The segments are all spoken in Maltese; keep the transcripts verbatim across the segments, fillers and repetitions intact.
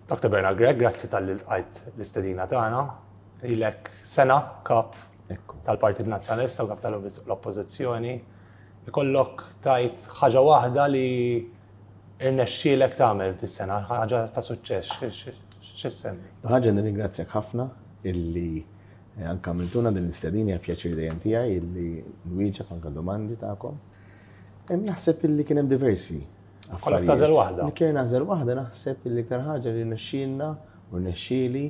Doctor Bernard Grech, grazzi talli lqajt l-istedina tagħna. Ilek sena kap tal-Partit Nazzjonalista u kap tal-Oppożizzjoni. Ikollok tgħid ħaġa waħda li irnexxielek tagħmel f'dis-sena, ħaġa ta' suċċess, x'issemmi? Ħaġa, nirringrazzjak ħafna illi eh, anka għamiltuna din l-istedina. Hija pjaċir dejjem tiegħi illi nwieġeb anka domandi tagħkom. Naħseb illi kien hemm diversi. Kollok tagħżel waħda. Li kien nagħżel waħda, naħseb illi iktar ħaġa li nexxielna u nexxieli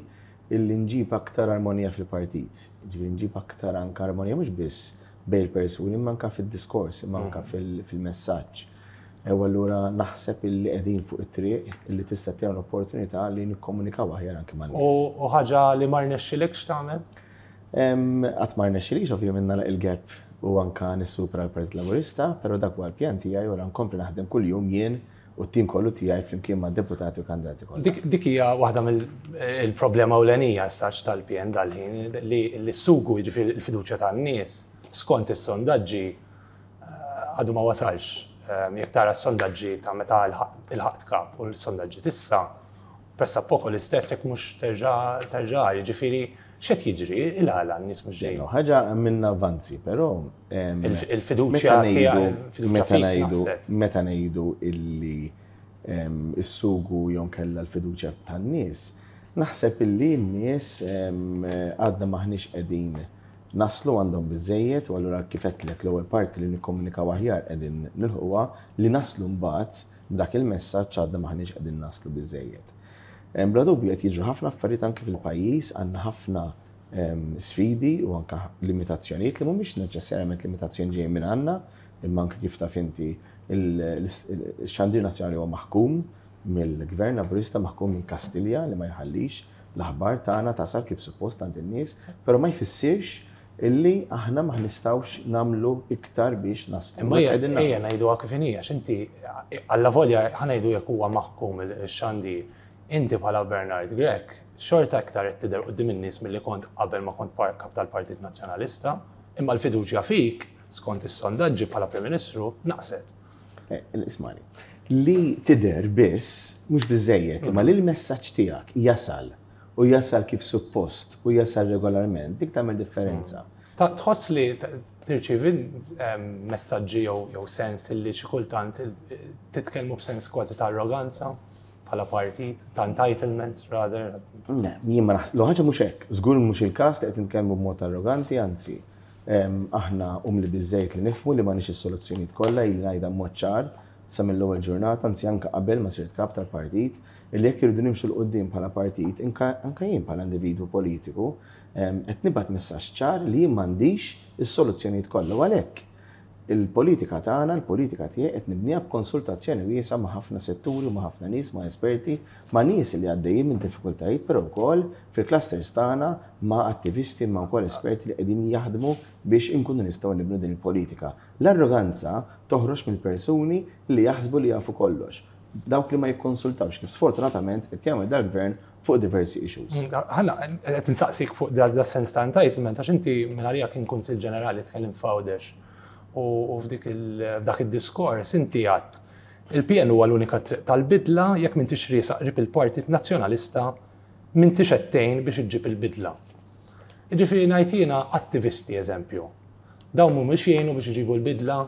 illi nġib aktar armonija fil-partit. Ġifieri nġib aktar anka armonija mhux biss bejn il-persuni, imma anka fid-diskors, imma anka mm. fil-messaġġ. U allura naħseb illi qegħdin fuq it-triq illi tista' tagħna l-opportunità li nikkomunikaw aħjar anke man. U ħaġa li ma rnexxilekx tagħmel? Qatt ma rnexxilix ovvjament nagħlaq il-gap u anka nissupera l-Partit Laburista, però dak huwa l-pjan tiegħi u nkompli naħdem kuljum jien u t-tim kollu tiegħi flimkien ma' deputati u kandidati kollha. Dik hija waħda mill-problema ewlenija saċ tal-P N dal-ħin, li s-sugu, jiġifieri l-fiduċja tan-nies skont is-sondaġġi, eh, għadu ma wasalx. Eh, jekk tara s-sondaġġi ta' meta lħaqt kap u l-sondaġġi t'issa, pressappoco l-istess, jekk mhux terġa' terġa', jiġifieri x'qed jiġri, il-għala n-nies mhux ġejjin? Ħaġa minna avanzi, però il-fiduċja tiegħek. Meta ngħidu meta ngħidu illi is-sugu jew kellha l-fiduċja tan-nies, naħseb illi n-nies għadna maħniex qegħdin naslu għandhom biżejjed. U allura, kif għedtlek, l-ewwel parti li nikkomunikaw aħjar qegħdin nilħuha, li naslu mbagħad b'dak il-messaġġ għadna maħniex qegħdin naslu biżejjed. Bla dubju qed jiġru ħafna affarijiet anke fil-pajjiż, għandna ħafna sfidi u anke limitazzjonijiet li mhumiex neċessarjament limitazzjoni ġejjin minn għandna, imma anke, kif taf inti, il-xandir nazzjonali huwa maħkum mill-Gvern Laburista, maħkum minn Kastilja, li ma jħallix l-aħbar tagħna tasal kif suppost għand in-nies, però ma jfissirx illi aħna ma nistgħux nagħmlu iktar biex naslu. Imma ejja ngħidu kif inhi, għax inti, alla volja ħa ngħidu jekk huwa maħkum il-xandir, inti bħala Bernard Grech xorta iktar qed tidher quddiem in-nies milli kont qabel ma kont kap tal-Partit Nazzjonalista, imma l-fiduċja fik, skont is-sondaġġi, bħala Prim Ministru naqset. Eh, ismani, li tidher biss mhux biżejjed, imma li l-messaġġ tiegħek jasal u jasal kif suppost u jasal regolarment, dik tagħmel differenza. Tħoss li tirċivi messaġġi jew sens li xi kultant titkellmu b'sens kważi ta' arroganza bħala partit, ta' entitlement rather? Ne, jien ma naħseb, ħaġa mhux hekk, żgur mhux il-każ li qed nitkellmu b'mod arroganti, anzi, aħna umli biżejjed li nifhmu li m'għandniex is-soluzzjonijiet kollha. Ili ngħidha mod ċar sa mill-ewwel ġurnata, anzi anke qabel ma sirt kap tal-partit, li jekk irridu nimxu 'l quddiem bħala partit, anka jien bħala individwu politiku, qed nibgħat messaġġ ċar li jien m'għandix is-soluzzjonijiet kollha, u għalhekk il-politika tagħna, il-politika tiegħi, qed nibniha b'konsultazzjoni wiesgħa ma' ħafna setturi, ma' ħafna nies, ma' esperti, ma' nies li għaddejjin minn diffikultajiet, però wkoll fil-clusters tagħna ma' attivisti, ma' wkoll esperti li qegħdin jaħdmu biex inkunu nistgħu nibnu din il-politika. L-arroganza toħroġ mill-persuni li jaħsbu li jafu kollox. Dawk li ma jikkonsultawx, kif sfortunatament qed jagħmel dal-gvern fuq diversi issues. Ħanna, qed insaqsik fuq da sens ta' entitlement, għax inti minn għalija kien Kunsill Ġenerali, tkellimt f'Għawdex u f'dak id-diskors inti għedt: "Il-P N huwa l-unika triq tal-bidla, jekk m'intix riesaq qrib il-Partit Nazzjonalista m'intix qed tgħin biex iġġib il-bidla." Jiġifieri ngħid jiena, attivisti eżempju. Dawn mhumiex jgħinu biex iġibu l-bidla,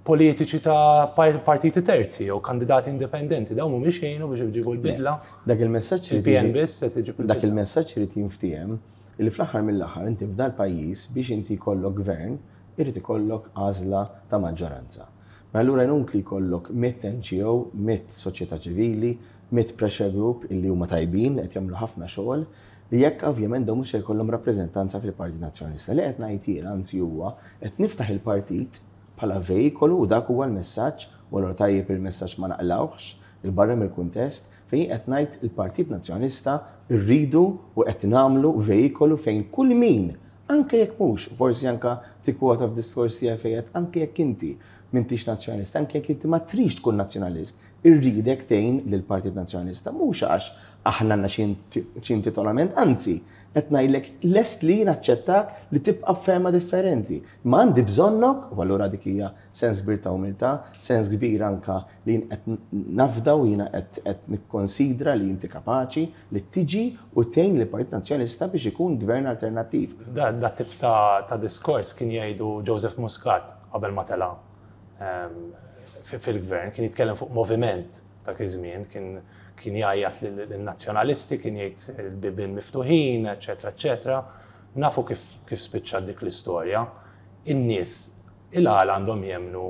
politiċi ta' partiti terzi jew kandidati indipendenti, dawn mhumiex jgħinu biex iġibu l-bidla. Dak il-messaġġ Il-P N biss qed iġib Dak il-messaġġ irid jinftiehem li fl-aħħar mill-aħħar inti f'dal pajjiż, biex inti jkollok gvern, irid ikollok għażla ta' maġġoranza. Ma allura inutli jkollok mitt N G O, mitt soċjetà ċivili, mitt pressure group illi huma tajbin, qed jagħmlu ħafna xogħol, li jekk ovvjament dawn mhux se jkollhom rappreżentanza fil-Partit Nazzjonalista. Li qed ngħid jien anzi huwa qed niftaħ il-partit bħala vejkolu, u dak huwa l-messaġġ, u allura tajjeb il-messaġġ ma naqlawx il-barra mill-kuntest, fejn qed ngħid il-Partit Nazzjonalista rridu u qed nagħmlu vejkolu fejn kull min, anke jekk mhux, forsi anke tikkwota f'diskors tiegħi fejn anke jekk inti m'intix nazzjonalista, anke jekk inti ma trix tkun nazzjonalist, irridek tgħin lill-Partit Nazzjonalista, mhux għax aħna għandna xi intitolament, anzi, qed Qed ngħidlek lest li naċċettak li tibqa' b'fehma differenti. Ma għandi bżonnok, u allura dik hija sens kbir ta' umiltà, sens kbir anka li jien qed nafda u jiena qed nikkonsidra li inti kapaċi li tiġi u tgħin lill-Partit Nazzjonalista biex ikun gvern alternattiv. Da, da tip ta', ta' diskors kien jgħidu Joseph Muscat qabel ma tela' ehm, fil-gvern, kien jitkellem fuq moviment dak iż-żmien, kien kien jgħajjat lin-nazzjonalisti, kien jgħid il-bibien miftuħin, eċetera, eċetera. Nafu kif, kif spiċċa dik l-istorja. In-nies il-għala għandhom jemmnu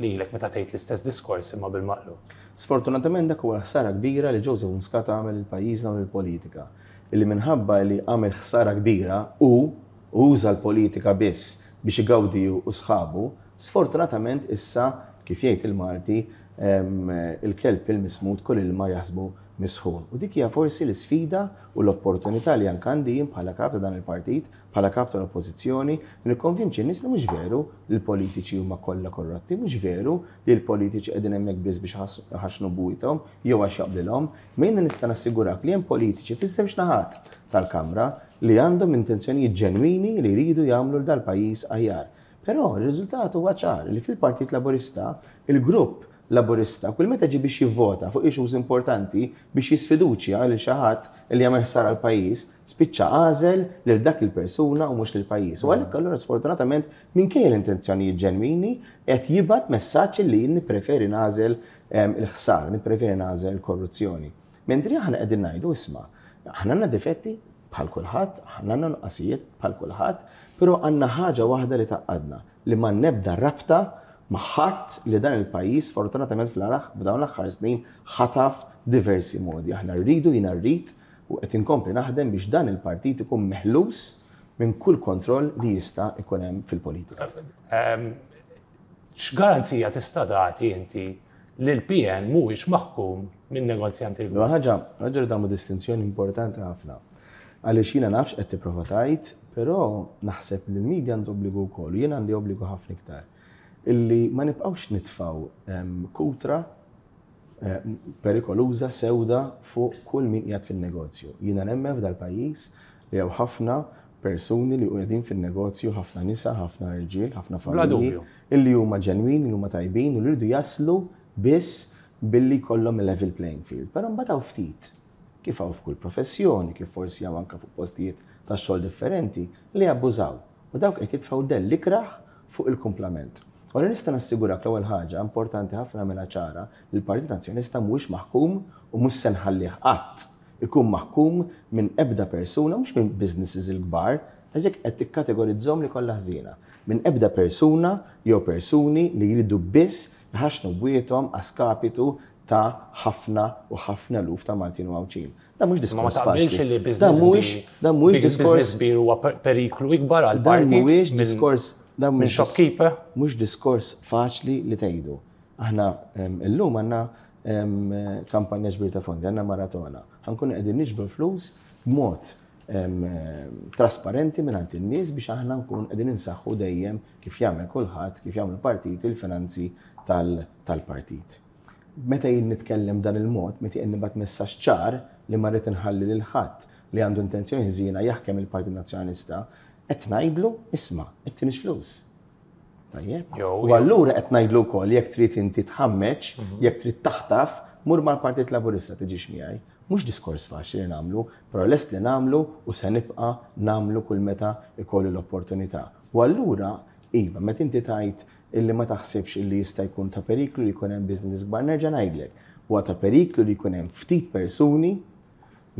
lilek meta tgħid l-istess diskors imma bil-maqlub. Sfortunatament dak huwa ħsara kbira li Joseph Muscat għamel il-pajjiżna u l-politika. Illi minħabba li għamel ħsara kbira u uża l-politika biss biex igawdi u sħabu, sfortunatament issa kif jgħid il-Malti il-kelb il-mismut kull ilma jaħsbu misħun. U dik hija forsi l-isfida u l-opportunità li anke għandi jien bħala kap ta' dan il-partit, bħala kap tal-oppożizzjoni, li nikkonvinċi n-nies li mhux veru li l-politiċi huma kollha korrotti, mhux veru li l-politiċi qegħdin hemmhekk biss biex ħaxnu bujthom jew għax jaqblilhom, ma jiena nista' nassigurak li hemm politiċi fiż-żewġ naħat tal-Kamra li għandhom intenzjonijiet ġenwini li jridu jagħmlu dal-pajjiż aħjar. Però r-riżultat huwa ċar li fil-Partit Laburista il-grupp Laburista kull meta ġi biex jivvota fuq issues importanti biex jisfiduċja lil xi ħadd li jagħmel ħsara l-pajjiż, spiċċa għażel lil dak il-persuna u mhux lill-pajjiż. U għalhekk allura sfortunatament minkejja l-intenzjonijiet ġenwini qed jibgħat messaġġ li jien nippreferi nagħżel il-ħsar, nippreferi nagħżel il-korruzzjoni. Mentri aħna qegħdin ngħidu isma' aħna għandna difetti bħal kulħadd, aħna għandna nuqqasijiet bħal kulħadd, però għandna ħaġa waħda li tgħaqqadna li ma nebda rabta ma' ħadd li dan il-pajjiż fortunatament fl-araħ b'dawn l-aħħar snin ħataf diversi modi. Aħna rridu, jiena rrid u qed inkompli naħdem biex dan il-partit ikun meħlus minn kull kontroll li jista' ikun hemm fil-politika. X'garanzija tista' tagħti inti li l-P N mhuwiex maħkum minn negozjanti l Ħaġa, ħaġa li tagħmlu distinzjoni importanti ħafna. Għaliex jiena nafx qed tipprova tgħid, però naħseb li l-medja għandu obbligu wkoll, u jiena għandi obbligu ħafna iktar illi ma nibqgħux nitfaw kutra perikoluża sewda fuq kull min qiegħed fin-negozju. Jiena nemmen f'dal-pajjiż li hawn ħafna persuni li qegħdin fin-negozju, ħafna nisa, ħafna irġiel, ħafna familji, illi huma ġenwini, li huma tajbin u li jridu jaslu biss billi jkollhom level playing field. Però mbagħad hawn ftit, kif hawn f'kull professjoni, kif forsi hawn anke fuq postijiet ta' xogħol differenti, li abbużaw. U dawk qed jitfgħu dell ikrah fuq il-kumplament. U nista' nassigurak l-ewwel ħaġa importanti ħafna mela ċara li l-Partit Nazzjonalista mhuwiex maħkum u mhux se nħallih qatt ikun maħkum minn ebda persuna, mhux minn businesses il-kbar, għax hekk qed tikkategorizzhom li kollha ħżiena. Minn ebda persuna jew persuni li jridu biss jħaxnu bwiethom a skapitu ta' ħafna u ħafna eluf ta' Maltin u Għawdxin. Da mhux diskors faċli. Da mhuwiex da mhuwiex diskors kbir huwa periklu ikbar għal partit. Dan mhuwiex diskors dan minn shopkeeper. Mhux diskors faċli li tgħidu. Aħna illum għandna kampanja ġbir ta' fondi, għandna maratona. Ħa nkunu qegħdin niġbru flus b'mod trasparenti minn għand in-nies biex aħna nkun qegħdin insaħħu dejjem kif jagħmel kulħadd, kif jagħmel partit il-finanzi tal-partit. Meta jien nitkellem dan il-mod, meta jien nibgħat messaġġ ċar li ma rrid inħalli lil ħadd li għandu intenzjoni ħżiena jaħkem il-Partit Nazzjonalista, qed ngħidlu isma' qed tinix flus. Tajjeb. U allura qed ngħidlu wkoll jekk trid inti tħammeġ, mhm. jekk trid taħtaf, mur mal-Partit Laburista, tiġix miegħi. Mhux diskors faċli li nagħmlu, però lest li nagħmlu u se nibqa' nagħmlu kull meta ikolli l-opportunità. U allura, iva, meta inti tgħid illi ma taħsibx illi jista' jkun ta' periklu li jkun hemm businesses kbar, nerġa' ngħidlek. Huwa ta' periklu li jkun hemm ftit persuni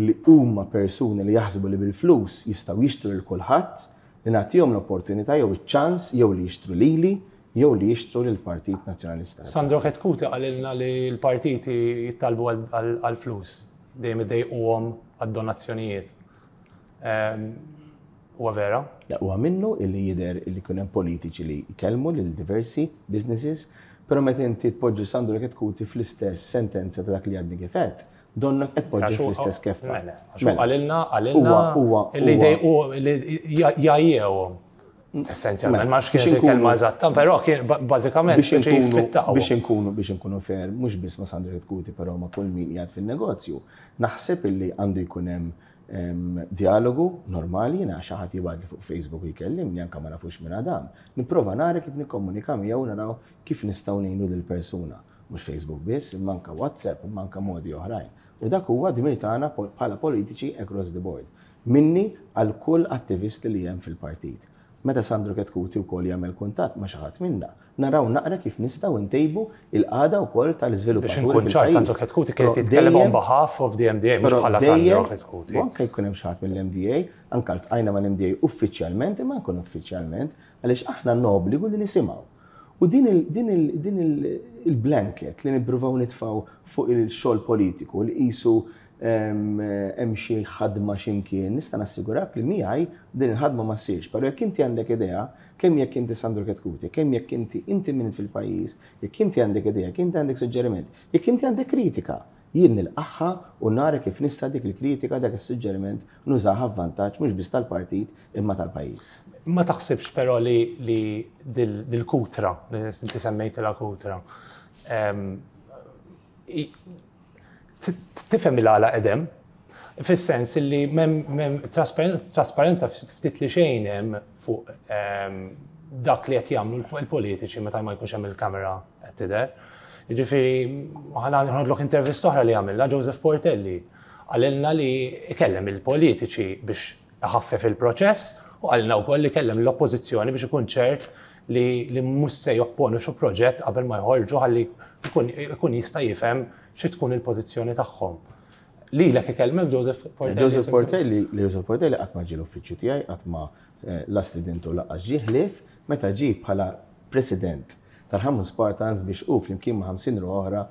li huma persuni li jaħsbu li bil-flus jistgħu jixtru lil kulħadd, li nagħtihom l-opportunità jew iċ-ċans jew li jixtru lili jew li jixtru lill-Partit Nazzjonalista. Sandro Chetcuti qalilna li l-partiti jittalbu għal-flus, dejjem idejquhom għad-donazzjonijiet. Huwa vera? Huwa minnu illi jidher illi jkun hemm politiċi li jkellmu lil diversi businesses, però meta inti tpoġġi Sandro Chetcuti fl-istess sentenza ta' dak li għadni kif għedt, donnok qed tpoġġi fl-istess keffa. Mela, għax qalilna qalilna illi jdejqu li jgħajjewhom. Essenzjalment, ma nafx kienet il-kelma eżatta, però kien bażikament biex inkunu biex inkunu biex inkunu fair, mhux biss ma' Sandro Chetcuti, però ma' kull min qiegħed fin-negozju. Naħseb illi għandu jkun hemm Dialogu normali, jiena xi ħadd jibgħatli fuq Facebook u jkellimni anke ma nafux minn Adam. Nipprova nara kif nikkomunika miegħu, naraw kif nistgħu ngħinu lill-persuna. Mhux Facebook biss, imma anke WhatsApp, imma anke modi oħrajn. U dak huwa dmir tagħna bħala politiċi across the board. Minni għal kull attivist li hemm fil-partit. Meta Sandro Chetcuti wkoll jagħmel kuntatt ma' xi ħadd minna, naraw naqra kif nistgħu ntejbu il-qagħda wkoll tal-iżviluppaturi. Biex inkun ċar, Sandro Chetcuti kien jitkellem on behalf of the M D A, mhux bħala Sandro Chetcuti. Anke jkun hemm xi ħadd mill-M D A, anke ltqajna mal-M D A uffiċjalment, imma nkun uffiċjalment, għaliex aħna n-obbligu li nisimgħu. U din il-blanket li nippruvaw nitfgħu fuq il-xogħol politiku li qisu hemm xi ħadma x'imkien, nista' nassigurak li miegħi din il-ħadma ma ssirx. Però jekk inti għandek idea, kemm jekk inti Sandro Chetcuti, kemm jekk inti inti minn fil-pajjiż, jekk inti għandek idea, jekk inti għandek suġġeriment, jekk inti għandek kritika, jien nilqagħha u nara kif nista' dik il-kritika, dak is-suġġeriment nużaha vantaġġ mhux biss tal-partit imma tal-pajjiż. Ma taħsibx però li li dil-kutra, li inti semmejtilha kutra, tifhem il-għala edem, fis-sens li mem trasparenza ftit li xejn hemm fuq dak li qed jagħmlu l-politiċi meta ma jkunx hemm il-kamera qed tidher. Jiġifieri ħa noħodlok intervista oħra li għamilna Joseph Portelli. Qalilna li ikellem il-politiċi biex iħaffef il-proċess u qalilna wkoll li kellem l-oppożizzjoni biex ikun ċert li li mhux se jopponu xi proġett qabel ma jħorġu ħalli ikun jista' jifhem xi tkun il-pożizzjoni tagħhom. Lilek ikellmek Joseph Portelli? Joseph Portelli, Joseph Portelli qatt ma ġie l-uffiċċju tiegħi, qatt ma la stidintu lanqas ġie, ħlief meta ġie bħala president tal-Ħamrun Spartans biex u flimkien ma' ħamsin ruħ oħra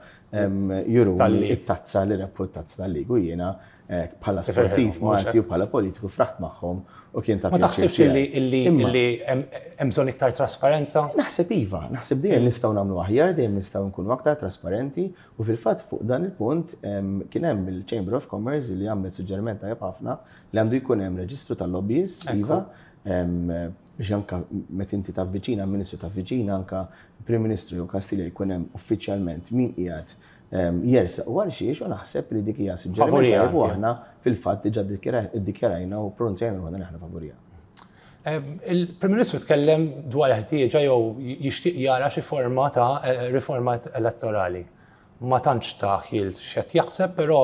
juru it-tazza li rebħu, t-tazza tal-league, u jiena bħala sportiv Malti u bħala politiku fraħt magħhom u kien ta' Ma taħsibx li hemm bżonn iktar trasparenza? Naħseb iva, naħseb dejjem nistgħu nagħmlu aħjar, dejjem nistgħu nkunu aktar trasparenti, u fil-fatt fuq dan il-punt kien hemm il-Chamber of Commerce li għamlet suġġeriment tajjeb ħafna li għandu jkun hemm reġistru tal-lobbyists, iva, biex anka meta inti tavviċina Ministru, tavviċina anka Prim Ministru jew Kastilja, jkun hemm uffiċjalment min qiegħed jersaq u għal xiex, u naħseb li dik hija suġġeriment u aħna fil-fatt diġà iddikjarajna u pronunzjajna ruħna li aħna favorija. Il-Prim Ministru tkellem dwar ħtieġa jew jixtieq jara xi forma ta' riforma elettorali. Ma tantx ta' ħjiel x'qed jaħseb, però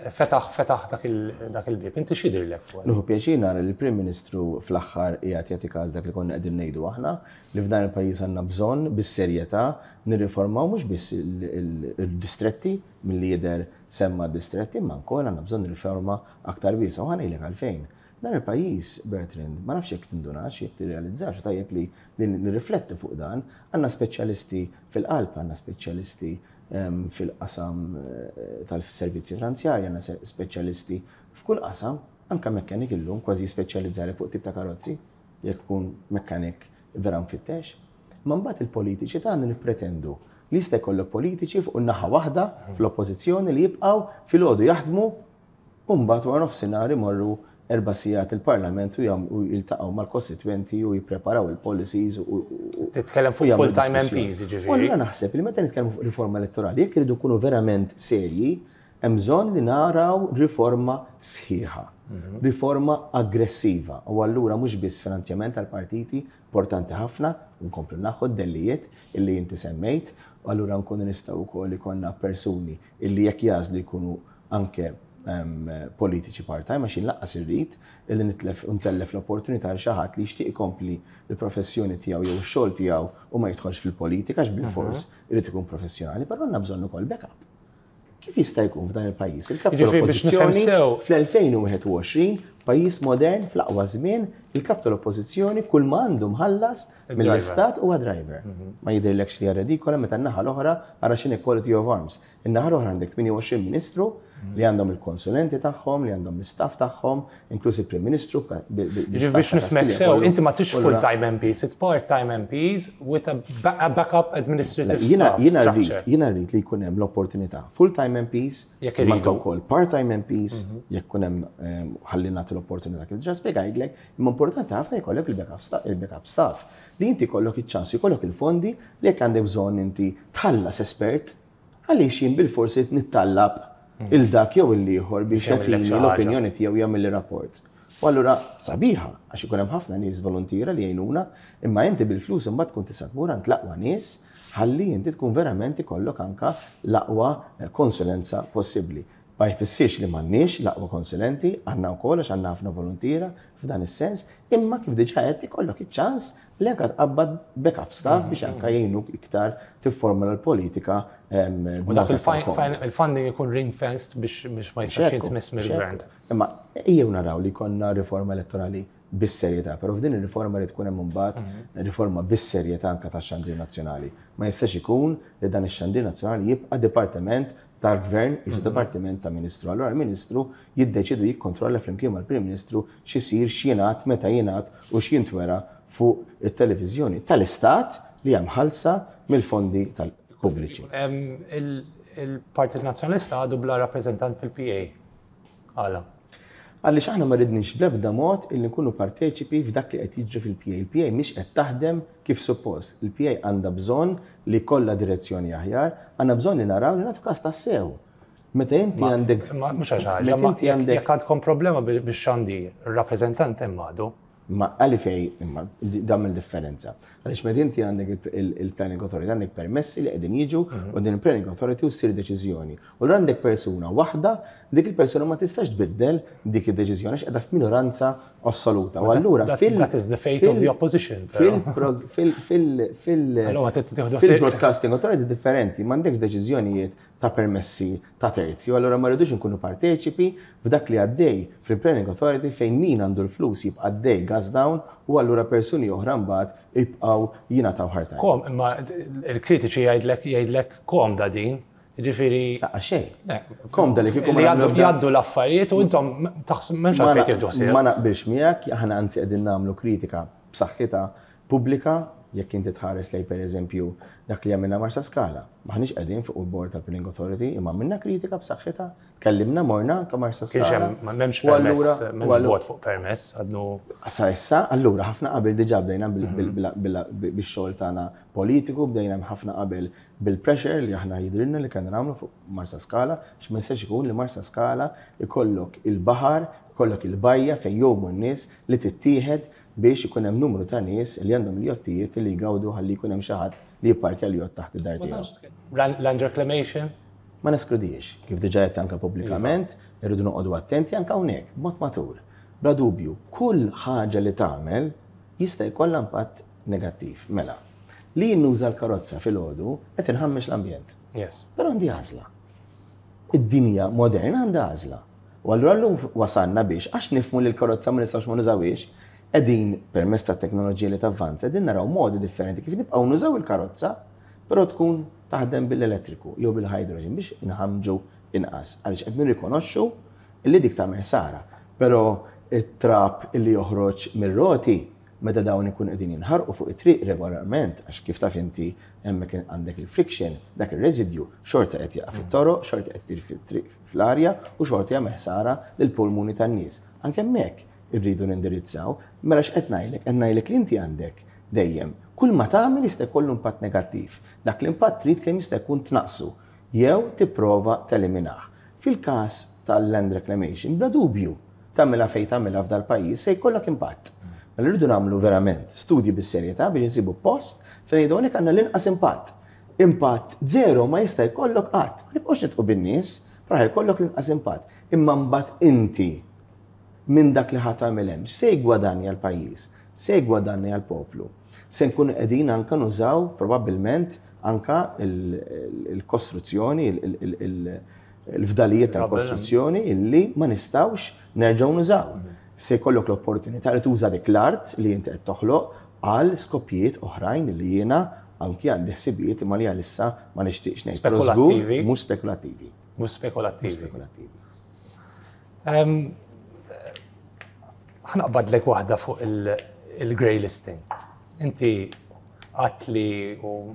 fetaħ fetaħ dak il-bib. Inti x'jidhirlek fuq? Nieħu pjaċir nara li l-Prim Ministru fl-aħħar qiegħed jagħti każ dak li konna qegħdin ngħidu aħna, li f'dan il-pajjiż għandna bżonn bis-serjetà nirriformaw mhux biss il-distretti, milli jidher semma distretti, imma wkoll għandna bżonn riforma aktar wiesgħa, u ħa ngħidlek għalfejn. Dan il-pajjiż, Bertrand, ma nafx jekk tindunax, jekk tirrealizzax, u tajjeb li nirriflettu fuq dan, għandna speċjalisti fil-qalb, għandna speċjalisti fil-qasam tal-servizzi finanzjarji, għandna speċjalisti f'kull qasam, anka mekkanik illum kważi speċjalizzari fuq tip ta' karozzi, jekk ikun mekkanik vera mfittex. Ma mbagħad il-politiċi tagħna nippretendu li jista' jkollok politiċi fuq naħa waħda fl-oppożizzjoni li jibqgħu filgħodu jaħdmu u mbagħad wara nofsinhar imorru erba' sigħat il-Parlament u jiltaqgħu mal-kostitwenti u jippreparaw il-policies u Titkellem fuq full-time M Ps, ġifieri. U allura naħseb li meta nitkellmu fuq riforma elettorali, jekk iridu nkunu verament serji, hemm bżonn li naraw riforma sħiħa, riforma aggressiva. U allura mhux biss finanzjament tal-partiti, importanti ħafna, nkomplu naħu d-dellijiet illi inti semmejt, u allura nkunu nistgħu wkoll ikollna persuni illi jekk jagħżlu jkunu anke politiċi part-time, għax lanqas irrid illi nitlef ntellef l-opportunità għal xi ħadd li jixtieq ikompli l-professjoni tiegħu jew ix-xogħol tiegħu u ma jidħolx fil-politika, għax bil-fors irid ikun professjonali, però għandna bżonn ukoll backup. Kif jista' jkun f'dan il-pajjiż? Il-kap tal-oppożizzjoni fl-elfejn u wieħed u għoxrin, pajjiż modern fl-aqwa żmien, il-kap tal-oppożizzjoni kull ma għandu mħallas mill-istat huwa driver. Ma jidhirlekx li hija redikola meta n-naħa l-oħra ara x'inhi quality of arms? In-naħa l-oħra għandek tmienja u għoxrin ministru li għandhom il-konsulenti tagħhom, li għandhom l-istaff tagħhom, inkluż il-Prim Ministru. Biex nifhmek sew, inti ma tix full-time M Ps, it's part-time M Ps with a backup administrative staff. Jiena rrid, jiena rrid li jkun hemm l-opportunità. Full-time M Ps, jekk wkoll part-time M Ps, jekk ikun hemm, ħalli nagħti l-opportunità kif diġà spjegajtlek, imma importanti ħafna jkollok il-backup staff. Li inti jkollok iċ-ċans, jkollok il-fondi li jekk għandek bżonn inti tħallas espert, għaliex jien bil-forsi nittallab lil dak jew il-ieħor biex jagħtini l-opinjoni tiegħu, jagħmel rapport. U allura sabiħa, għax ikun hemm ħafna nies volontiera li jgħinuna, imma inti bil-flus imbagħad tkun tista' tmur għand l-aqwa nies ħalli inti tkun verament ikollok anka l-aqwa konsulenza possibbli. Ma jfissirx li m'għandniex l-aqwa konsulenti, għandna wkoll, għax għandna ħafna volontiera f'dan is-sens, imma kif diġà qed, ikollok iċ-ċans li anka tqabbad backup staff biex anka jgħinuk iktar tifformula l-politika. U dak il-funding ikun ring-fenced biex ma jistax jintmiss mill-gvern. Imma ejjew naraw li konna riforma elettorali bis-serjetà, però f'din ir-riforma li tkun hemm imbagħad mhm. riforma bis-serjetà anka tax-xandir nazzjonali. Ma jistax ikun li dan ix-xandir nazzjonali jibqa' dipartiment tal-gvern, jisu mhm. dipartiment ta' ministru. Allora il-ministru jiddeċidu, jikkontrolla flimkien mal-Prim Ministru x'isir, x'jingħad, meta jingħad u x'jintwera fuq it-televiżjoni tal-Istat li hemm ħalsa mill-fondi tal-pubbliċi. Il-Partit Nazzjonalista għadu bla rappreżentant fil-P A. Għala? Għaliex aħna ma ridniex bl-ebda mod illi nkunu parteċipi f'dak li qed jiġri fil-P A. Il-P A mhix qed taħdem kif suppost. Il-P A għandha bżonn li kollha direzzjoni aħjar, għandna bżonn li naraw li nagħtu każ tassew. Meta inti għandek. Ma mhux għax ħaġa, ma jekk għandkom problema bix-xandir, ir-rappreżentant hemm għadu. Ma għali fej, imma dam il-differenza. Għaliex meta inti għandek il-Planning Authority, għandek permessi li qegħdin jiġu mhm. u din il-Planning Authority u ssir deċiżjoni. U l għandek persuna waħda, dik il-persuna ma tistax tbiddel dik id-deċiżjoni għax qiegħda f'minoranza assoluta. U allura fil That is the fate of the opposition. Fil-Broadcasting Authority differenti, m'għandekx deċiżjonijiet ta' permessi ta' terzi, u allura ma rridux nkunu parteċipi f'dak li għaddej fil-Planning Authority, fejn min għandu l-flus jibqa' għaddej gas down u allura persuni oħra mbagħad jibqgħu jingħataw ħarta. Kom, imma il-kritiċi jgħidlek jgħidlek komda din, ġifieri. Xejn. Komda li kieku jgħaddu l-affarijiet u intom taħseb m'hemmx għalfejn tieħdu ħsieb. Ma naqbilx miegħek, aħna anzi qegħdin nagħmlu kritika b'saħħitha pubblika. Jekk inti tħares lej, per eżempju, dak li għamilna Marsa Skala. Maħniex qegħdin fuq il-board tal-Planning Authority, imma għamilna kritika b'saħħitha, kellimna, morna anke Marsa Skala. M'hemmx permess, m'hemmx vot fuq permess, għadnu. Sa issa, allura ħafna qabel diġà bdejna bix-xogħol tagħna politiku, bdejna ħafna qabel bil-pressure li aħna jidrilna li kellna nagħmlu fuq Marsa Skala, x'ma jistax ikun li Marsa Skala ikollok il-baħar, ikollok il-bajja fejn jgħumu n-nies li tittieħed biex ikun hemm numru ta' nies li għandhom il-jottijiet li jgawdu, ħalli jkun hemm xi ħadd li jipparkja l-jott taħt id-dar tiegħu. Land reclamation? Ma neskludix, kif diġà qed anke pubblikament, irridu noqogħdu attenti anke hawnhekk, b'mod matur. Bla dubju, kull ħaġa li tagħmel jista' jkollha impatt negattiv. Mela, li nuża l-karozza filgħodu qed inħammex l-ambjent. Yes. Però għandi għażla. Id-dinja moderna għandha għażla. U allura llum wasalna biex, għax nifhmu li l-karozza ma nistgħux ma nużawhiex, qegħdin permezz ta' teknoloġija li tavvanza, qegħdin naraw modi differenti kif nibqgħu nużaw il-karozza, però tkun taħdem bil-elettriku jew bil-hydrogen biex inħamġu inqas. Għaliex qed nirrikonoxxu li dik tagħmel ħsara. Però it-trab illi joħroġ mir-roti meta dawn ikun qegħdin jinħarqu fuq it-triq regolarment, għax kif taf inti hemmhekk għandek il-friction, dak ir-residue xorta qed jaqa' fit-toroq, xorta qed itir fit-triq, fl-arja, u xorta jagħmel ħsara lill-pulmuni tan-nies. Anke hemmhekk irridu nindirizzaw. Mela x'qed ngħidlek? Qed ngħidlek li inti għandek dejjem kull ma tagħmel jista' jkollu impatt negattiv. Dak l-impatt trid kemm jista' jkun tnaqsu jew tipprova teliminah. Fil-każ tal-land reclamation, bla dubju, tagħmilha fejn tagħmilha f'dal-pajjiż se jkollok impatt. Mela rridu nagħmlu verament studji bis-serjetà biex insibu post fejn ngħidu hawnhekk għandna l-inqas impatt. Impatt zero ma jista' jkollok qatt. Ma nibqgħux nidħku bin-nies, però jkollok l-inqas impatt. Imma mbagħad inti minn dak li ħa tagħmel hemm, se jgwadanja l-pajjiż, se jgwadanja l-poplu. Se nkunu qegħdin anka nużaw probabbilment anka il-kostruzzjoni, il-fdalijiet tal-kostruzzjoni illi ma nistgħux nerġgħu nużaw. Se jkollok l-opportunità li tuża dik l-art li inti qed toħloq għal skopijiet oħrajn li jiena anki għandi ħsibijiet, imma li għalissa ma nixtieqx ngħid. Spekulattivi. Mhux spekulattivi. Mhux spekulattivi. Mhux spekulattivi. Ħa naqbadlek waħda fuq il-grey listing. Inti għedt li, u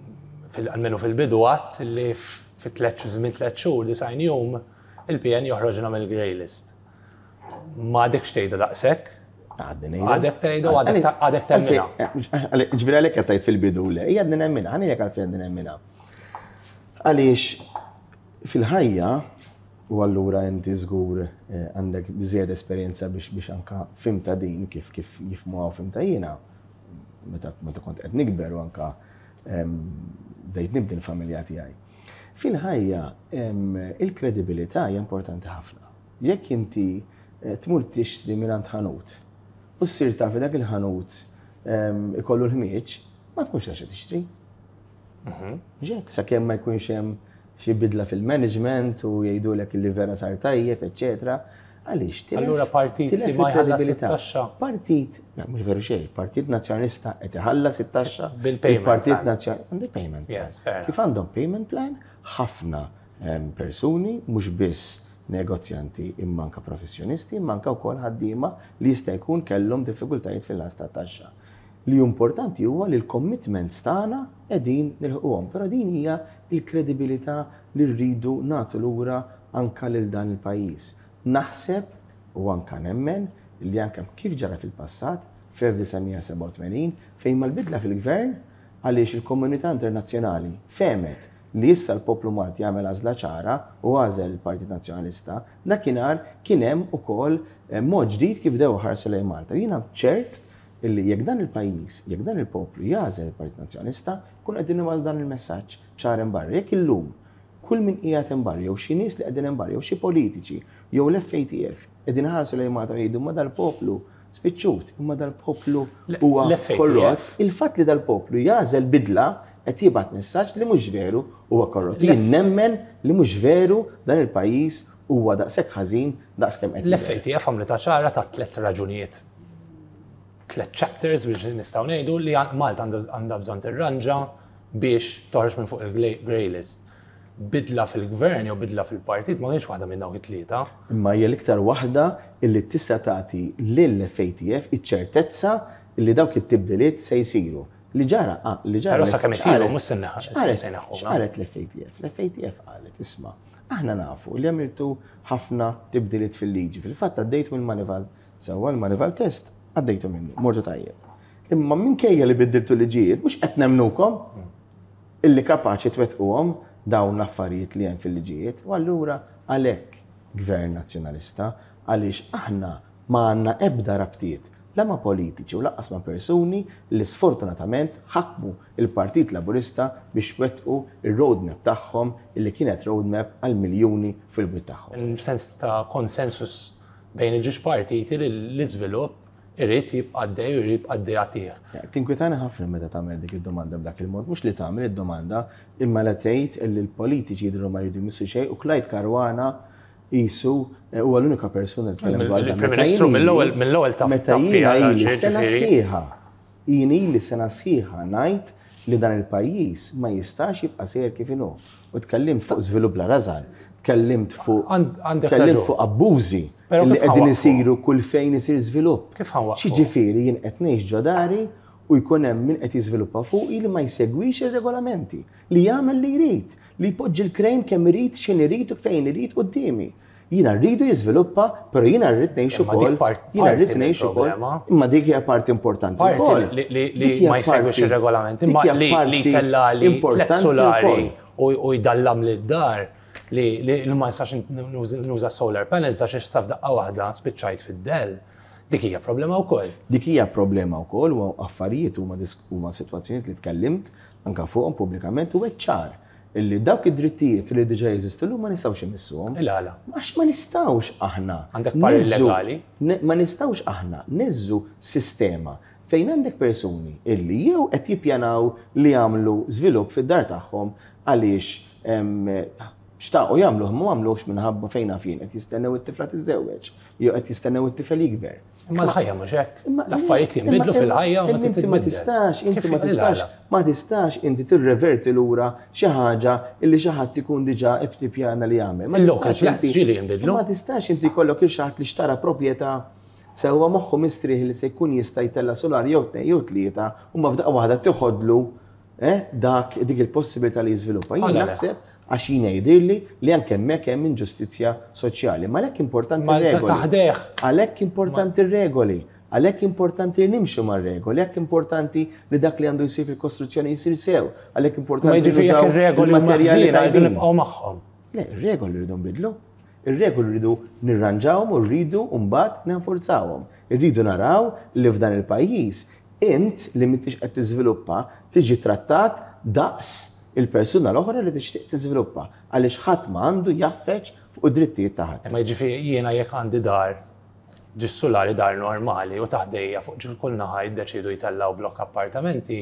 almenu fil-bidu għedt li fi tliet żmien tliet xhur, disgħin jum, il-P N joħroġna mill-grey list. Ma għadekx tgħidha daqshekk? Għadek tgħidha u għadek temminha. Ġifieri għalhekk qed tgħid fil-bidu le, hija għadni nemminha, ħa ngħidlek għalfejn għadni nemminha. Għaliex fil-ħajja U allura inti żgur għandek biżżejjed esperjenza biex biex anka fhimtha din kif kif jifhmuha u fhimtha jiena meta meta kont qed nikber u anka bdejt nibdi l-familja tiegħi. Fil-ħajja il-kredibilità hija importanti ħafna. Jekk inti tmur tixtri mingħand ħanut u ssir taf dak il-ħanut ikollu l-ħmieġ, ma tkunx taf tixtri. Ġek, sakemm ma jkunx hemm xi bidla fil-management u jgħidulek li vera sar tajjeb, eċetera. Għaliex? Allura partit li ma jħallas it-taxxa. Partit, mhux veru xejn, Partit Nazzjonalista qed iħallas it-taxxa. Bil-payment. Partit Nazzjonalista għandu payment plan. Yes, fair. Kif għandhom payment plan, ħafna persuni, mhux biss negozjanti imma anka professjonisti, imma anka wkoll ħaddiema li jista' jkun kellhom diffikultajiet fil-ħlas tat-taxxa. Li importanti huwa li l-commitments tagħna qegħdin nilħquhom, però din hija l-kredibilità li rridu nagħtu lura anka lil dan il-pajjiż. Naħseb u anka nemmen li anka kif ġara fil-passat fl-elf disa' mija sebgħa u tmenin fejn mal-bidla fil-gvern għaliex il-komunità internazzjonali fehmet li issa l-poplu Malti jagħmel għażla ċara u għażel il-Partit Nazzjonalista, dakinhar kien hemm ukoll mod ġdid kif bdew ħarsu lejn Malta. Jiena ċert illi jekk dan il-pajjiż, jekk dan il-poplu jagħżel il-Partit Nazzjonalista, kun qegħdin nibgħatu dan il-messaġġ ċar hemm barra. Jekk illum kull min qiegħed hemm barra, jew xi nies li qegħdin hemm barra, jew xi politiċi, jew l-F A T F qegħdin ħarsu lejn Malta jgħidu ma dal-poplu spiċċut, imma dal-poplu huwa L-F A T F. korrott. Il-fatt li dal-poplu jagħżel bidla qed jibgħat messaġġ li mhux veru huwa korrott. Jien nemmen li mhux veru dan il-pajjiż huwa daqshekk ħażin daqskemm qed L-F A T F għamlet ċara ta' tliet raġunijiet. Tliet chapters biex nistgħu ngħidu li Malta għandha bżonn tirranġa biex toħroġ minn fuq il-grey list. Bidla fil-gvern jew bidla fil-partit ma kienx waħda minn dawk it-tlieta. Imma hija l-iktar waħda illi tista' tagħti lill-F A T F iċ-ċertezza illi dawk it-tibdiliet se jsiru. Li ġara, ah, li ġara Però l-F sakemm isiru, x'qalet? mhux se neħ-, X'qalet? se neħħuna. X'qalet l-F A T F? L-F A T F qalet, isma', aħna nafu li għamiltu ħafna tibdiliet fil-liġi. Fil-fatt għaddejtu mill-Moneyval, sewwa l-Moneyval test għaddejtu minnu, mortu tajjeb. Imma minkejja li biddiltu liġijiet, mhux qed nemnukom illi kapaċi twettquhom dawn l-affarijiet li hemm fil-liġijiet. U allura għalhekk Gvern Nazzjonalista, għaliex aħna ma għandna ebda rabtiet la ma' politiċi u lanqas ma' persuni li sfortunatament ħakmu il-Partit Laburista biex wettqu il-roadmap tagħhom illi kienet roadmap għal miljuni fil-bwiet tagħhom. Sens ta' konsensus bejn il-ġiex partiti li l-iżvilupp irid jibqa' għaddej u irid jibqa' għaddej għatih. Tinkwitani ħafna meta tagħmel dik id-domanda b'dak il-mod, mhux li tagħmel id-domanda imma la tgħid illi l-politiċi jidhru ma jridu jmissu xejn u Clyde Caruana qisu huwa l-unika persuna li tkellem dwar dan. Il-Prim Ministru mill-ewwel mill-ewwel taf Meta tappi jiena għal ili xejn, sena ġifieri. sħiħa, jien ili sena sħiħa ngħid li dan il-pajjiż ma jistax jibqa' sejjer kif inhu. U tkellimt fuq żvilupp la rażan, tkellimt fuq Għand-, għandek tkellimt raġun. fuq abbużi Però li kif qegħdin ħanwaqqfu? isiru kull fejn isir żvilupp. Kif ħanwaqqfu? Xiġifieri jien qed ngħix ġo dari u jkun hemm min qed jiżviluppa fuqi li ma jsegwix ir-regolamenti, li jagħmel li jrid, li jpoġġi l-krejn kemm irid, x'in irid u fejn irid quddiemi. Jiena rridu jiżviluppa, però jiena rrid ngħix Imma dik ukoll. part- Jiena rrid parti ngħix ukoll. mill-problema. Imma dik hija parti importanti Parti wkoll. li, li, li Dik hija ma jsegwix parti- ir-regolamenti, dik imma hija li, li parti tella li tliet importanti solari wkoll. u, u jdallam lid-dar li, li, li ma nistax nuża, nuża solar panels għax issa f'daqqa waħda spiċċajt fid-dell. Dik hija problema wkoll. Dik hija problema wkoll u affarijiet huma disk-, huma sitwazzjonijiet li tkellimt anke fuqhom pubblikament u ċar illi dawk id-drittijiet li diġà jeżistu llum ma nistgħux imissuhom. Il-għala. Għax ma nistgħux aħna Għandek parir neżżu legali? ne-, ma nistgħux aħna neżżu sistema fejn għandek persuni illi jew qed jippjanaw li jagħmlu żvilupp fid-dar tagħhom għaliex, em, xtaqu jagħmluh ma għamluhx minħabba fejn naf jien qed jistennew it-tifla tiżżewweġ jew qed jistennew it-tifel jikber. Imma l-ħajja mhux hekk. Imma L-affarijiet li jinbidlu imma fil-ħajja ma inti ma titbiddel. tistax, inti Kif ma tistax, il-għala? ma tistax inti tirreverti lura xi ħaġa illi xi ħadd ikun diġà ibtipjana li jagħmel. Ma Il-local tistax plans inti ġieli jinbidlu. Ma tistax inti jkollok il xi ħadd li xtara proprjetà sewwa moħħu mistrieħ li se jkun jista' jtella' solar jew tnejn jew tlieta u ma f'daqqa waħda tiħodlu, eh, dak dik il-possibilità li jiżviluppa. Jien Għala le? naħseb għax jiena jidhirli li anke hemmhekk hemm inġustizzja soċjali. Ma għalhekk importanti Ma r-regoli. taħdeh. Għalhekk importanti r-regoli. Għalhekk importanti li nimxu mar-regoli, għalhekk importanti li dak li għandu jsir fil-kostruzzjoni jsir sew, għalhekk importanti Ma li jiġifieri jekk nużaw ir-regoli huma il-materjali ħżiena rridu tajbin. nibqgħu magħhom. Le, ir-regoli rridu nbidlu. Ir-regoli rridu nirranġawhom u rridu mbagħad nenforzawhom. Irridu naraw li f'dan il-pajjiż int li m'intix qed tiżviluppa tiġi trattat daqs il-persuna l-oħra li tixtieq tiżviluppa, għaliex ħadd ma għandu jaffeċ fuq id-drittijiet ta' ħadd. Ma jiġifieri jiena jekk għandi dar ġis sulari, dar normali, u taħdejja fuq ġil kull naħa jiddeċidu jtellaw blokk appartamenti,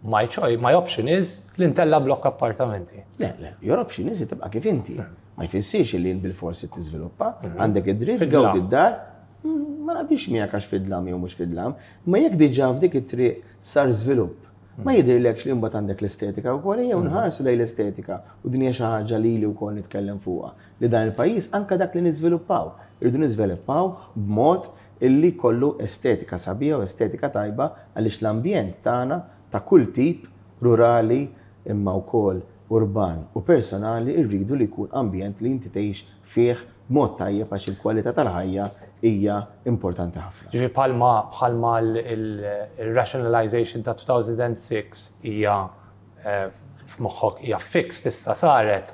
my choice, my option is li ntella blokk appartamenti. Le, le, your option is li tibqa' kif inti. Ma jfissirx li jien bil-forsi tiżviluppa, għandek id-dritt Fid-dlam. Gawdi d-dar, mm, ma naqbilx miegħek għax fid-dlam jew mhux fid-dlam, ma jekk diġà f'dik it-triq sar żvilupp, ma jidhirlekx li mbagħad għandek l-estetika wkoll? Jew nħarsu lejn l-estetika, u din hija xi ħaġa li li wkoll nitkellem fuqha, li dan il-pajjiż anke dak li niżviluppaw, irridu niżviluppaw b'mod illi kollu estetika sabiħa u estetika tajba, għaliex l-ambjent tagħna ta' kull tip, rurali imma wkoll urban u personali, rridu li jkun ambjent li inti tgħix fih b'mod tajjeb, għax il-kwalità tal-ħajja hija importanti ħafna. Ġifieri bħalma bħalma il-rationalization ta' elfejn u sitta hija eh, f'moħħok hija fixed issa saret,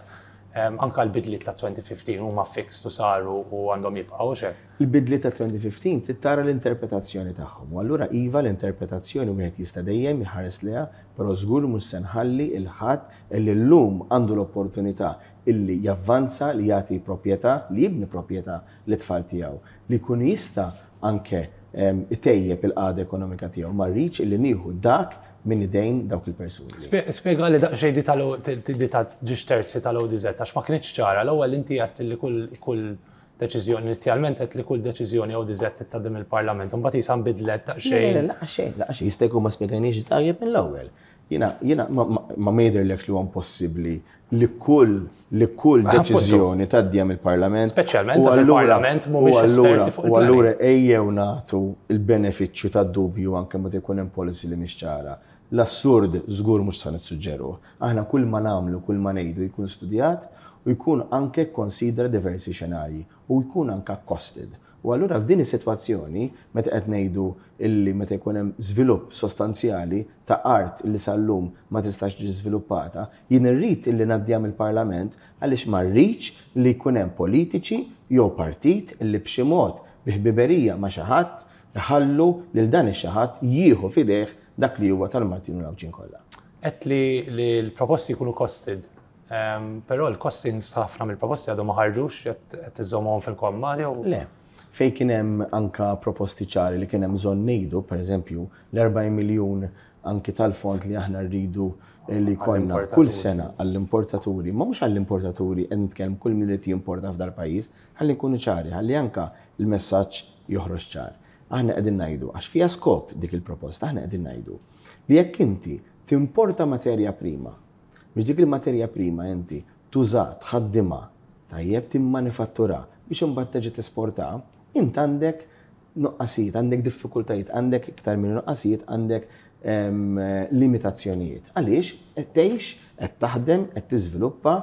em, anka l-bidliet ta' elfejn u ħmistax huma fixed u saru u għandhom jibqgħu xek. Il-bidliet ta' elfejn u ħmistax trid tara l-interpretazzjoni tagħhom. U allura iva, l-interpretazzjoni wieħed jista' dejjem jħares leha, però żgur mhux se nħalli 'l ħadd illi llum għandu l-opportunità illi javvanza, li jagħti proprjetà, li jibni proprjetà lit-tfal tiegħu, li jkun jista' anke em, itejjeb il-qagħda ekonomika tiegħu. Ma rridx illi nieħu dak minn idejn dawk il-persuni. Spjega li daqsxejn di tal di ta' ġiex terzi tal-O D Z, għax ma kienx ċara. L-ewwel inti għedt li kull kull deċiżjoni, inizjalment għedt li kull deċiżjoni O D Z tgħaddi mill-Parlament, imbagħad jisa nbidlet Le, daqsxejn. le, la, xejn, la, xejn, jista' jkun ma spjegajniex tajjeb mill-ewwel. Jiena, jiena ma, ma, ma ma jidhirlekx li huwa impossibbli li kull li kull deċiżjoni tgħaddiha mill-Parlament? Speċjalment U għax allura- il-Parlament mhumiex u allura- esperti fuq U il-planning. allura ejjew nagħtu il-benefiċċju tad-dubju anke meta jkun hemm policy li mhix ċara. L-assurd żgur mhux se nissuġġeru. Aħna kull ma nagħmlu, kull ma ngħidu jkun studjat u jkun anke konsidra diversi xenarji u jkun anke costed. U allura f'din is-sitwazzjoni, meta qed ngħidu illi meta jkun hemm żvilupp sostanzjali ta' art illi sal-lum ma tistax ġi żviluppata, jien irrid illi ngħaddiha mill-Parlament, għaliex ma rridx li jkun hemm politiċi jew partit illi b'xi mod bi ħbiberija ma' xi ħadd iħallu lil dan ix-xi ħadd jieħu f'idejh dak li huwa tal-Maltin u l-Għawdxin kollha. Għedt li li l-proposti jkunu costed, um, però l-costings ħafna mill-proposti għadhom ma ħarġux, qed iżommhom fil-komma jew? Le, fej kien hemm anka proposti ċari li kien hemm bżonn ngħidu, pereżempju, l-erbgħin miljun anki tal-fond li aħna rridu li jkollna kull Għall-importaturi. sena għall-importaturi, ma mhux għall-importaturi, qed nitkellem kull min irid jimporta f'dal pajjiż, ħalli nkunu ċari, ħalli anka il-messaġġ joħroġ ċar. Aħna qegħdin ngħidu, għax fiha skop dik il-proposta, aħna qegħdin ngħidu li jekk inti timporta materja prima, biex dik il-materja prima inti tuża, tħaddimha, tajjeb, timmanifattura biex imbagħad terġa' tesporta, int għandek nuqqasijiet, għandek diffikultajiet, għandek iktar minn nuqqasijiet, għandek em, limitazzjonijiet. Għaliex qed tgħix, qed taħdem, qed tiżviluppa,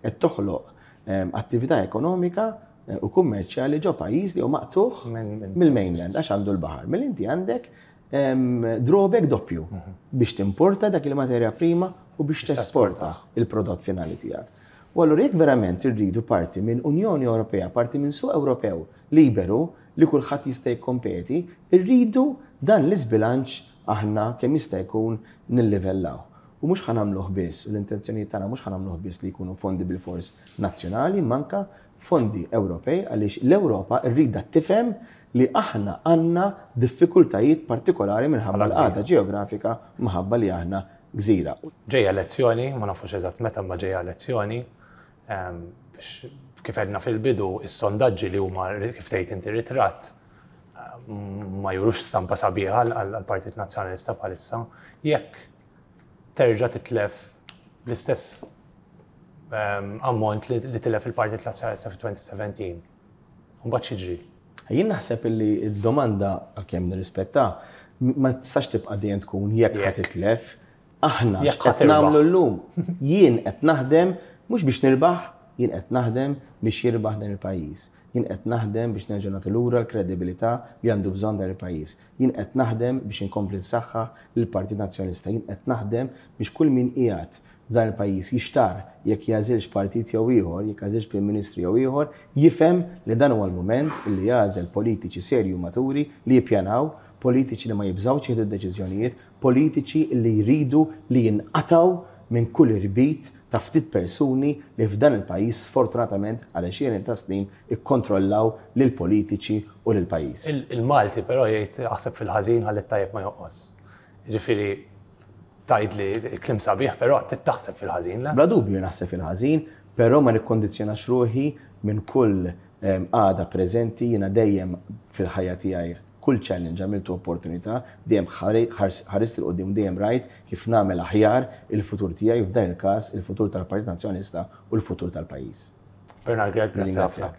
qed toħloq em, attività ekonomika eh, u kummerċjali ġo pajjiż li hu maqtugħ Minn- minn- mill-mainland għax għandu l-baħar. Mela inti għandek em, drawback doppju biex timporta dak il-materja prima u biex tesporta il-prodott finali tiegħek. U allura jekk verament irridu parti minn Unjoni Ewropea, parti minn suq Ewropew liberu li kulħadd jista' jikkompeti, irridu dan l-iżbilanċ aħna kemm jista' jkun nillivellaw. U mhux ħa nagħmluh biss, l-intenzjonijiet tagħna mhux ħa nagħmluh biss li jkunu fondi bil-fors nazzjonali, manka fondi Ewropej, għaliex l-Ewropa rrida tifhem li aħna għandna diffikultajiet partikolari minħabba l-qagħda ġeografika, minħabba li aħna gżira. Ġejja elezzjoni, ma nafux eżatt meta, ma ġejja elezzjoni, em, biex kif għedna fil-bidu, is-sondaġġi li huma, kif tgħid inti, ritratt, em, ma jurux stampa sabiħa għall-Partit Nazzjonalista bħalissa. Jekk terġa' titlef l-istess em, ammont li li tilef il-Partit Nazzjonalista fi elfejn u sbatax, mbagħad x'jiġri? Jien naħseb li d-domanda, għalkemm nirrispetta, ma tistax tibqa' dejjem tkun jekk ħa Jekk. titlef. Aħna Jekk x'qed ħa tirbaħ. nagħmlu llum? Jien qed naħdem mhux biex nirbaħ, jien qed naħdem biex jirbaħ dan il-pajjiż. Jien qed naħdem biex nerġa' nagħti lura l-kredibilità li għandu bżonn dan il-pajjiż. Jien qed naħdem biex inkompli nsaħħaħ lill-Partit Nazzjonalista. Jien qed naħdem biex kull min qiegħed f'dan il-pajjiż jixtar jekk jagħżilx partit jew ieħor, jekk jagħżilx Prim Ministru jew ieħor, jifhem li dan huwa l-mument li jagħżel politiċi serju, maturi, li jippjanaw, politiċi li ma jibżgħux jieħdu deċiżjonijiet, politiċi li jridu li jinqataw minn kull irbit ta' ftit persuni li f'dan il-pajjiż sfortunatament għal għexieren ta' snin ikkontrollaw lil politiċi u lil pajjiż. Il-Malti però jgħid aħseb fil-ħażin ħalli tajjeb ma jonqos. Ġifieri tgħid li kliem sabiħ, però taħseb fil-ħażin, le? Bla dubju naħseb fil-ħażin, però ma nikkondizzjonax ruħi minn kull għada preżenti. Jiena dejjem fil-ħajja tiegħi kull challenge għamiltu opportunità, dejjem ħarist 'il quddiem, dejjem rajt kif nagħmel aħjar il-futur tiegħi, f'dan il-każ il-futur tal-Partit Nazzjonalista u l-futur tal-pajjiż. Bernard Grech, grazzi ħafna.